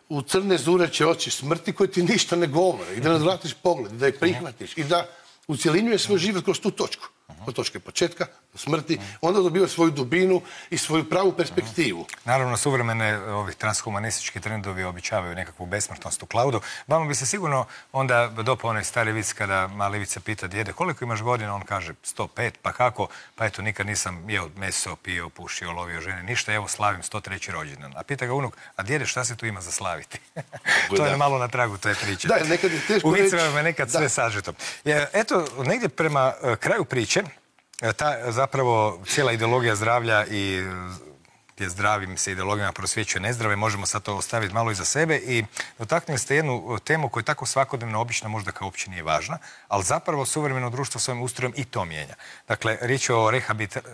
u crne zureće oči smrti koje ti ništa ne govore i da nadvratiš pogled, da je prihvatiš i da ucjelinjuješ svoj život kroz tu točku. Od točke početka do smrti, onda dobiva svoju dubinu i svoju pravu perspektivu. Naravno, suvremene transhumanistički trendovi običavaju nekakvu besmrtnost u klaudu. Vama bi se sigurno onda dopao onaj stari vic kada mali Ivica pita djede koliko imaš godina, on kaže 105, pa kako? Pa eto, nikad nisam jeo meso, pio, pušio, lovio žene, ništa, evo slavim 103. rođendan. A pita ga unuk, a djede šta se tu ima za slaviti? To je malo na tragu te priče. Da, nekad je teško reći. U vicevima je nekad sve sažeto. Eto, negdje prema kraju priče, ta zapravo cijela ideologija zdravlja i gdje zdravim se ideologijama prosvjećuje nezdrave, možemo sad to ostaviti malo iza sebe i dotaknuli ste jednu temu koja je tako svakodnevno obična, možda kao uopće nije važna, ali zapravo suvremeno društvo svojim ustrojem i to mijenja. Dakle, riječ je o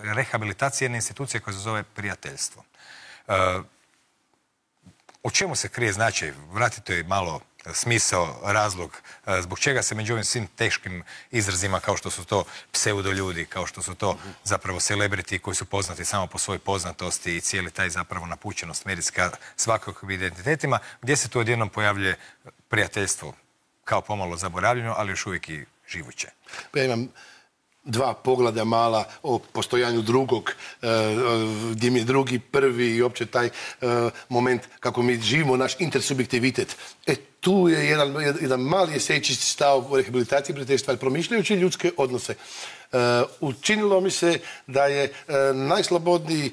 rehabilitaciji jedne institucije koja se zove prijateljstvo. U čemu se krije značaj? Vratite malo smisao, razlog, zbog čega se među ovim svim teškim izrazima kao što su to pseudoljudi, kao što su to zapravo celebrity koji su poznati samo po svojoj poznatosti i cijeli taj zapravo napućenost medijska svakakvim identitetima, gdje se tu odjednom pojavljuje prijateljstvo kao pomalo zaboravljeno, ali još uvijek i živuće. Ja imam 2 poglavlja mala o postojanju drugog, gdje mi je drugi prvi i opće taj moment kako mi živimo naš intersubjektivitet. Tu je jedan mali esejičisti stav u rehabilitaciji prijateljstva, promišljajući ljudske odnose. Učinilo mi se da je najslobodniji,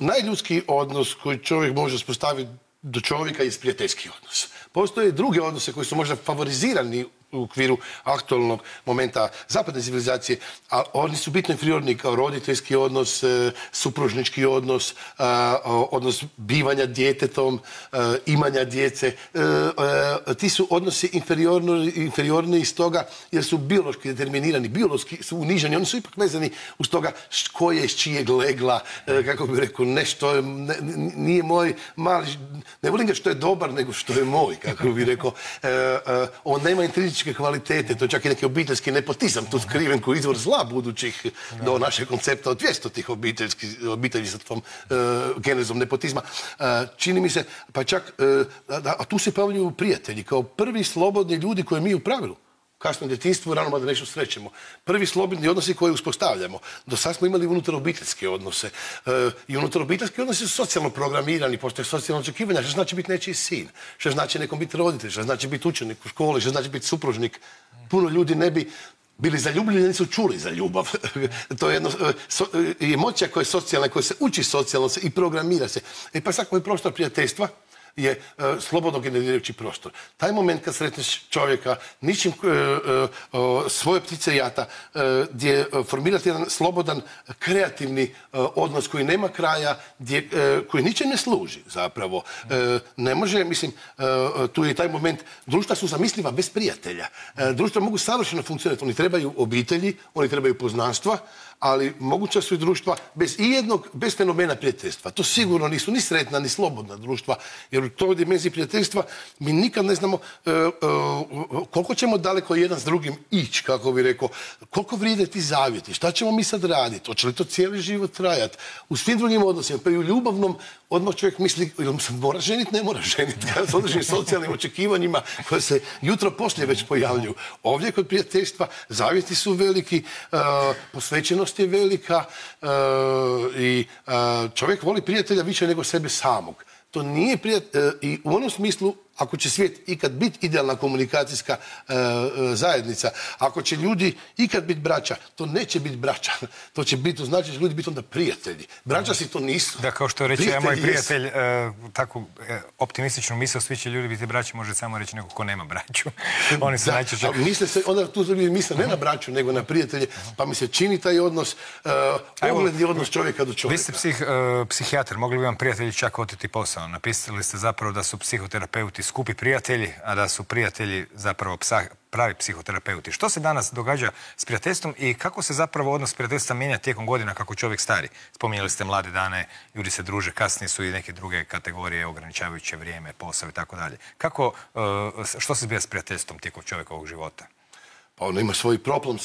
najljudskiji odnos koji čovjek može uspostaviti do čovjeka je prijateljski odnos. Postoje druge odnose koji su možda favorizirani u okviru aktualnog momenta zapadne civilizacije, a oni su bitno inferiorni kao roditeljski odnos, supružnički odnos, odnos bivanja djetetom, imanja djece. Ti su odnosi inferiorni iz toga jer su biološki determinirani, biološki su uniženi, oni su ipak vezani uz toga ko je iz čijeg legla, kako bih rekao, nešto nije moj mali, ne volim ga što je dobar, nego što je moj, kako bih rekao. On nema intrinzičke kvalitete, to je čak i neki obiteljski nepotizam tu skriven koji izvor zla budućih do našeg koncepta od 200 tih obitelji sa tom genezom nepotizma. Čini mi se, pa čak, a tu se pojavljuju prijatelji kao prvi slobodni ljudi koje mi u pravilu kasno djetinjstvu rano da nešto srećemo. Prvi slobodni odnosi koje uspostavljamo. Do sad smo imali unutar obiteljske odnose. I unutar obiteljske odnose su socijalno programirani, postoje socijalno očekivanja. Što znači biti nečiji sin? Što znači nekom biti roditelj? Što znači biti učenik u školi? Što znači biti supružnik? Puno ljudi ne bi bili zaljubljeni, nisu čuli za ljubav. To je emocija koja je socijalna, koja se uči socijalno i programira se. Pa sad koji prostor prijateljstva je slobodno generirajući prostor. Taj moment kad sretneš čovjeka, ničim svoje ptice jata, gdje formirati jedan slobodan, kreativni odnos koji nema kraja, koji ničem ne služi zapravo. Ne može, mislim, tu je taj moment, društva su zamisliva bez prijatelja. Društva mogu savršeno funkcionirati. Oni trebaju obitelji, oni trebaju poznanstva, ali moguća su i društva bez fenomena prijateljstva. To sigurno nisu ni sretna, ni slobodna društva, jer u toj dimenziji prijateljstva mi nikad ne znamo koliko ćemo daleko jedan s drugim ići, kako bi rekao, koliko vrijede ti zavjeti, šta ćemo mi sad raditi, hoće li to cijeli život trajati. U svim drugim odnosima, pa i u ljubavnom odmah čovjek misli, ili se mora ženiti, ne mora ženiti, s određenim socijalnim očekivanjima koje se jutro poslije već pojavljuju. Ovdje kod prijateljstva zavjeti su veliki, posvećenost je velika i čovjek voli prijatelja više nego sebe samog. To nije prijatelj i u onom smislu, ako će svijet ikad biti idealna komunikacijska zajednica, ako će ljudi ikad biti braća, to neće biti braća. To će biti, to znači da će ljudi biti onda prijatelji. Braća si to nisu. Da, kao što reče moj prijatelj, takvu optimističnu misao, svi će ljudi biti braći, može samo reći neko ko nema braću. Oni se najčešće... Misle se, onda tu ljudi misle ne na braću, nego na prijatelje, pa mi se čini taj odnos, ogledni odnos čovjeka do čovjeka. Vi ste psihijatar, mogli bi vam prijatelji čak oteti posao. Napisali ste zapravo da su psihoterapeuti skupi prijatelji, a da su prijatelji zapravo pravi psihoterapeuti. Što se danas događa s prijateljstvom i kako se zapravo odnos prijateljstva mijenja tijekom godina kako čovjek stari? Spominjali ste mlade dane, ljudi se druže, kasnije su i neke druge kategorije, ograničavajuće vrijeme, posao i tako dalje. Što se zbija s prijateljstvom tijekom čovjekovog života? Pa ono ima svoj problem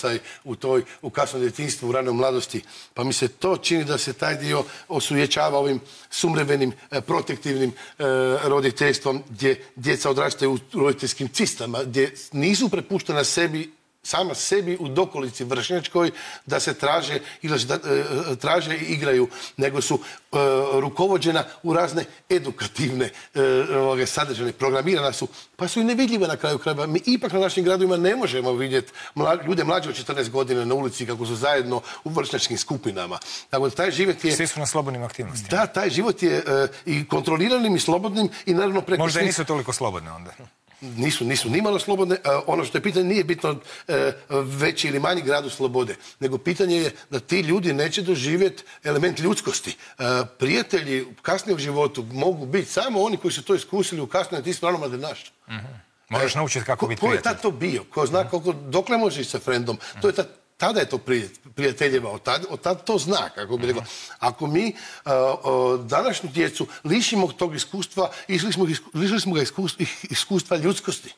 u kasnom djetinjstvu, u ranoj mladosti. Pa mi se to čini da se taj dio osujećava ovim sumrevenim, protektivnim roditeljstvom, gdje djeca odrastaju u roditeljskim cistama, gdje nisu prepuštena sama sebi u dokolici vršnjačkoj da se traže i igraju, nego su rukovođena u razne edukativne sadržane, programirana su, pa su i nevidljive na kraju krajeva. Mi ipak na našim gradovima ne možemo vidjeti ljude mlađe od 14 godina na ulici kako su zajedno u vršnjačkim skupinama. Tako da taj život je... Svi su na slobodnim aktivnostima. Da, taj život je i kontroliranim i slobodnim i naravno preko... Možda i nisu toliko slobodne onda. Nisu nimalo slobodne. Ono što je pitanje nije bitno veći ili manji gradu slobode, nego pitanje je da ti ljudi neće doživjeti element ljudskosti. Prijatelji u kasnijem životu mogu biti samo oni koji su to iskusili u kasnijem ti sprano mladenaštvu. Moraš naučiti kako biti prijatelj. Ko je tad to bio? Ko zna dokle može ići sa frendom? Tada je to prijateljeva, od tada to zna, kako bi rekao. Ako mi današnju djecu lišimo tog iskustva, lišili smo ga iskustva ljudskosti.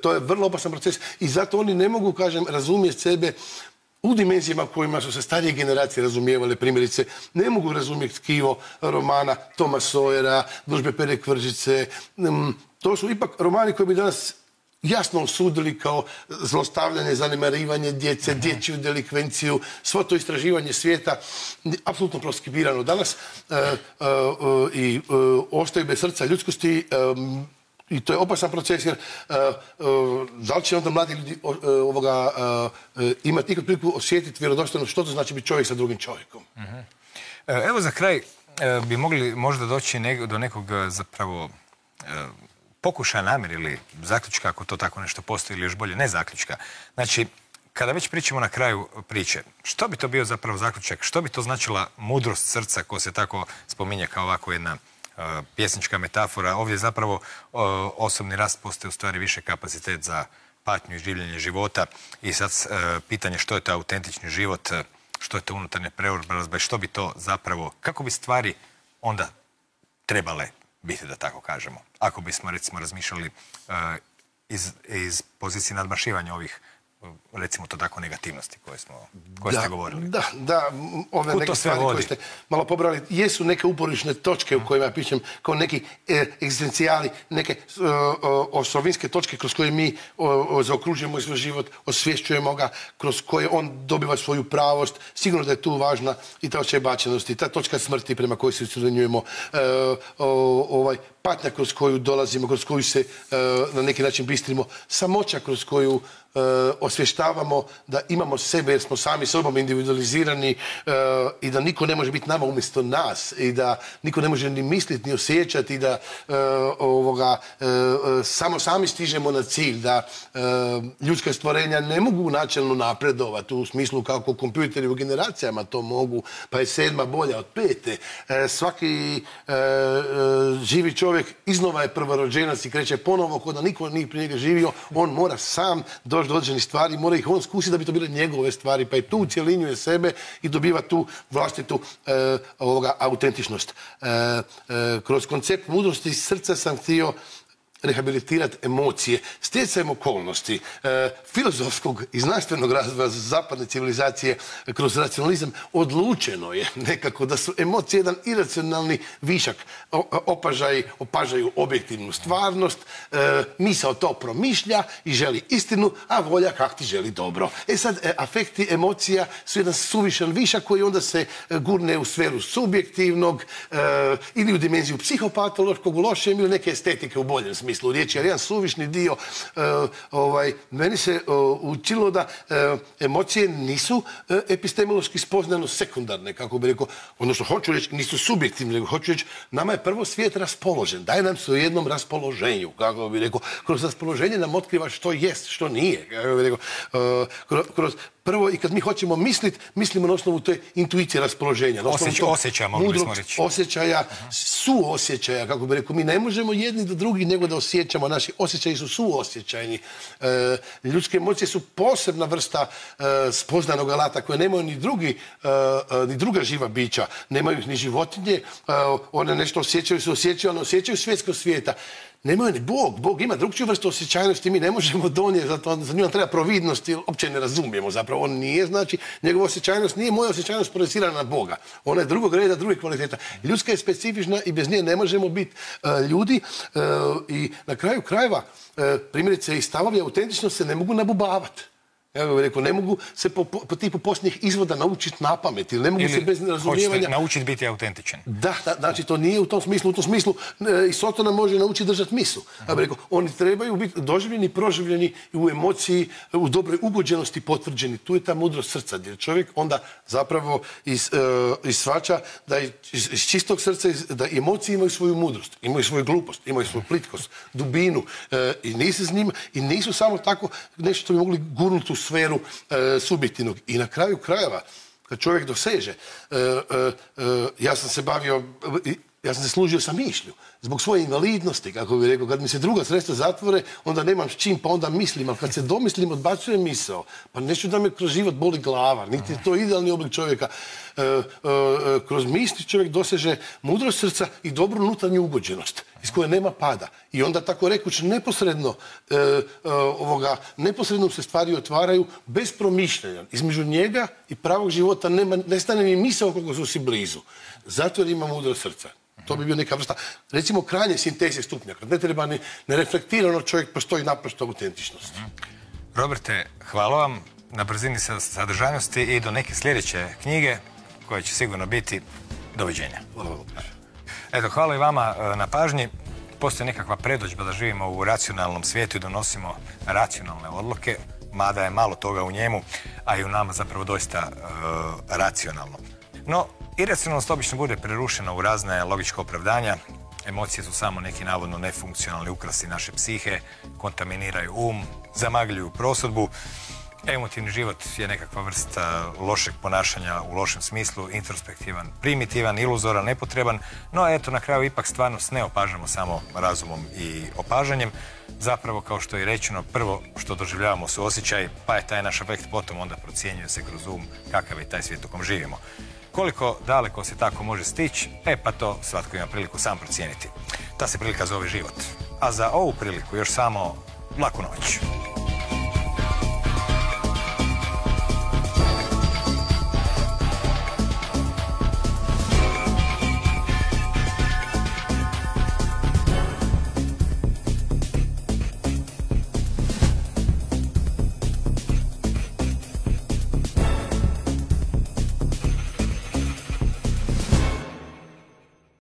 To je vrlo opasan proces i zato oni ne mogu, kažem, razumjeti sebe u dimenzijama kojima su se starije generacije razumijevale, primjerice, ne mogu razumjeti tkivo romana Toma Sawyera, Družbe Pere Kvržice. To su ipak romani koji bi danas jasno osudili kao zlostavljanje, zanemarivanje djece, dječju delikvenciju, svo to istraživanje svijeta, apsolutno proskribirano danas i ostaju bez srca ljudskosti. I to je opasan proces, jer da li će onda mladi ljudi imati ikad priliku osjetiti vjerodostojno što to znači biti čovjek sa drugim čovjekom. Evo za kraj bi mogli možda doći do nekog zapravo pokušaja namjere ili zaključka, ako to tako nešto postoji, ili još bolje ne zaključka. Znači, kada već pričamo na kraju priče, što bi to bio zapravo zaključak? Što bi to značila mudrost srca, ko se tako spominje kao ovako jedna pjesnička metafora? Ovdje zapravo osobni rast postoji u stvari više kapacitet za patnju i življenje života. I sad pitanje što je to autentični život, što je to unutarnja preobrazba i što bi to zapravo, kako bi stvari onda trebale biti, da tako kažemo, ako bismo recimo razmišljali iz pozicije nadmašivanja ovih, recimo to tako, negativnosti koje ste govorili. Da, ove neke stvari koje ste malo pobrali, jesu neke uporišne točke u kojima ja pišem kao neki egzistencijali, neke osovinske točke kroz koje mi zaokružujemo svoj život, osvješćujemo ga, kroz koje on dobiva svoju pravost. Sigurno da je tu važna i ta osjećaj bačenosti, ta točka smrti prema kojoj se usrednjujemo, patnja kroz koju dolazimo, kroz koju se na neki način bistrimo, samoća kroz koju osvještavamo da imamo sebe jer smo sami sobom individualizirani i da niko ne može biti nama umjesto nas i da niko ne može ni misliti ni osjećati i da samo sami stižemo na cilj, da ljudska stvorenja ne mogu načelno napredovati u smislu kako kompjuteri u generacijama to mogu, pa je 7. bolja od 5. Svaki živi čovjek iznova je prvorođenac i kreće ponovo kod da niko nije prije njega živio, on mora sam doći do određenih stvari, mora ih on skusiti da bi to bile njegove stvari, pa i tu ucjelinjuje sebe i dobiva tu vlastitu autentičnost. Kroz koncept mudrosti srca sam htio rehabilitirati emocije, stjecajem okolnosti, filozofskog i znanstvenog razvoja zapadne civilizacije kroz racionalizam odlučeno je nekako da su emocije jedan iracionalni višak. Opažaju objektivnu stvarnost, misao to promišlja i želi istinu, a volja kak ti želi dobro. Sad, afekti emocija su jedan suvišan višak koji onda se gurne u sferu subjektivnog ili u dimenziju psihopatološkog u lošem ili neke estetike u boljem smislu riječi, jer jedan suvišni dio meni se učilo da emocije nisu epistemološki spoznano sekundarne, kako bi rekao, odnosno hoću reći, nisu subjektivne, nego hoću reći, nama je prvo svijet raspoložen, daje nam se u jednom raspoloženju, kako bi rekao, kroz raspoloženje nam otkriva što jest, što nije, kako bi rekao, prvo, i kad mi hoćemo misliti, mislimo na osnovu te intuicije raspoloženja. Osjećaja, mogli bismo reći. Osjećaja, suosjećaja, kako bi rekao. Mi ne možemo jedni do drugi nego da osjećamo. Naši osjećaji su suosjećajni. Ljudske emocije su posebna vrsta spoznanog alata koje nemaju ni druga živa bića. Nemaju ih ni životinje. One nešto osjećaju, ali ne osjećaju svjetskog svijeta. Nemaju ni Bog. Bog ima drugčiju vrstu osjećajnosti, mi ne možemo donijeti, zato za nju nam treba providnost, jer uopće ne razumijemo zapravo. On nije, znači, njegova osjećajnost nije moja osjećajnost projecirana na Boga. Ona je drugog reda, druge kvaliteta. Ljudska je specifična i bez nje ne možemo biti ljudi i na kraju krajeva, primjerice i stavovi autentičnosti se ne mogu nabubavati. Ja bih rekao, ne mogu se po tipu posljednjih izvoda naučiti na pamet ili ne mogu se bez razumijevanja... Hoćete naučiti biti autentičan. Da, znači to nije u tom smislu i Sotona može naučiti držati misu. Ja bih rekao, oni trebaju biti doživljeni, proživljeni u emociji, u dobroj ugođenosti potvrđeni. Tu je ta mudrost srca, jer čovjek onda zapravo shvaća da iz čistog srca, da emocije imaju svoju mudrost, imaju svoju glupost, imaju svoju plitkost, dubinu i nisu s njima i nisu samo tako nešto što bi mogli gurnuti u sferu subjektivnog. I na kraju krajeva, kad čovjek doseže, ja sam se služio sa mišlju. Zbog svoje invalidnosti, kako bih rekao, kad mi se druga sredstva zatvore, onda nemam s čim, pa onda mislim, ali kad se domislim, odbacujem misao. Pa neću da me kroz život boli glava, niti je to idealni oblik čovjeka. Kroz misli čovjek doseže mudrost srca i dobru unutarnju ugođenost. iz koje nema pada. I onda tako rekuć neposredno se stvari otvaraju bez promišljanja. Između njega i pravog života ne stane ni misao koliko su si blizu. Zato jer ima mudro srca. To bi bio neka vrsta, recimo, krajnje sinteze stupnja. Kad ne treba ni nereflektirano, čovjek postoji naprosto autentičnost. Roberte, hvala vam na brzini sadržajnosti i do neke sljedeće knjige koje će sigurno biti doviđenja. Hvala vam. Eto, hvala i vama na pažnji. Postoji nekakva predodžba da živimo u racionalnom svijetu i donosimo racionalne odluke, mada je malo toga u njemu, a i u nama zapravo doista racionalno. No, iracionalnost obično bude prerušena u razne logičke opravdanja. Emocije su samo neki navodno nefunkcionalni ukrasi naše psihe, kontaminiraju zamagljuju prosudbu. Emotivni život je nekakva vrsta lošeg ponašanja u lošem smislu, introspektivan, primitivan, iluzoran, nepotreban, no eto, na kraju ipak stvarnost ne opažamo samo razumom i opažanjem. Zapravo, kao što je rečeno, prvo što doživljavamo su osjećaj, pa je taj naš afekt potom onda procjenjuje se kroz kakav je taj svijet u kom živimo. Koliko daleko se tako može stići, pa to svatko ima priliku sam procijeniti. Ta se prilika zove život. A za ovu priliku još samo laku noć.